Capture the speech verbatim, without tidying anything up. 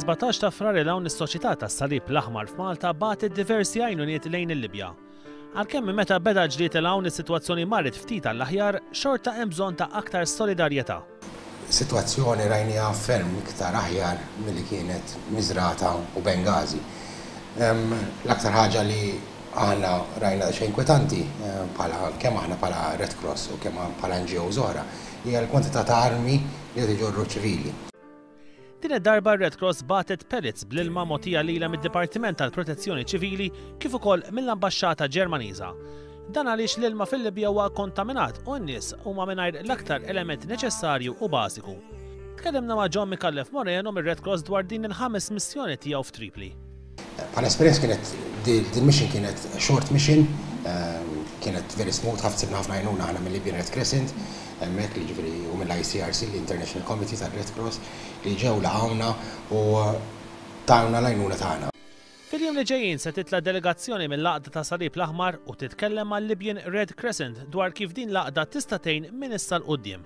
Fis-sbatax ta' Frar 'l hawn, is-Soċjetà tas-Salib l-Aħmar f'Malta bagħtet diversi għajnuniet lejn il-Libja. Għalkemm minn meta beda ġlied 'l hawn is-sitwazzjoni marret ftit għall-aħjar, xorta hemm bżonn ta' aktar solidarjetà. Sitwazzjoni rajniha ferm iktar aħjar milli kienet Misrata u Bengazi. L-aktar ħaġa li aħna rajna xejn inkwetanti, bħala kemm aħna bħala Red Cross u kemm bħala N G Os oħra, hija l-kwantità ta' armi li qed iġorru ċivili. Din id-darba Red Cross bagħtet pellets bl-ilma mogħtija lilha mid-Dipartiment tal-Protezzjoni Ċivili kif ukoll mill-Ambaxxata Ġermaniża. Dan għaliex l-ilma fil-Libja huwa kontaminat u n-nies huma mingħajr l-aktar element neċessarju u bażiku. Tkellimna ma' John Mikallef Moreno mir-Red Cross dwar din il-ħames missjoni tiegħu f'Tripli. Bħala esperjenza kienet din mission kienet short mission, kienet very smooth, ħafna sibna ħafna għajnuna aħna mill-Libyan Red Crescent, hemmhekk li ġifieri u mill-I C R C, l-International Committee tal-Red Cross, li ġew laqgħuna u tawna l-għajnuna tagħna. Fil-jiem li ġejjin se titla delegazzjoni mill-Għaqda ta' Salib l-Aħmar u titkellem mal Libyan Red Crescent dwar kif din l-għaqda tista' tgħin minn issa 'l quddiem.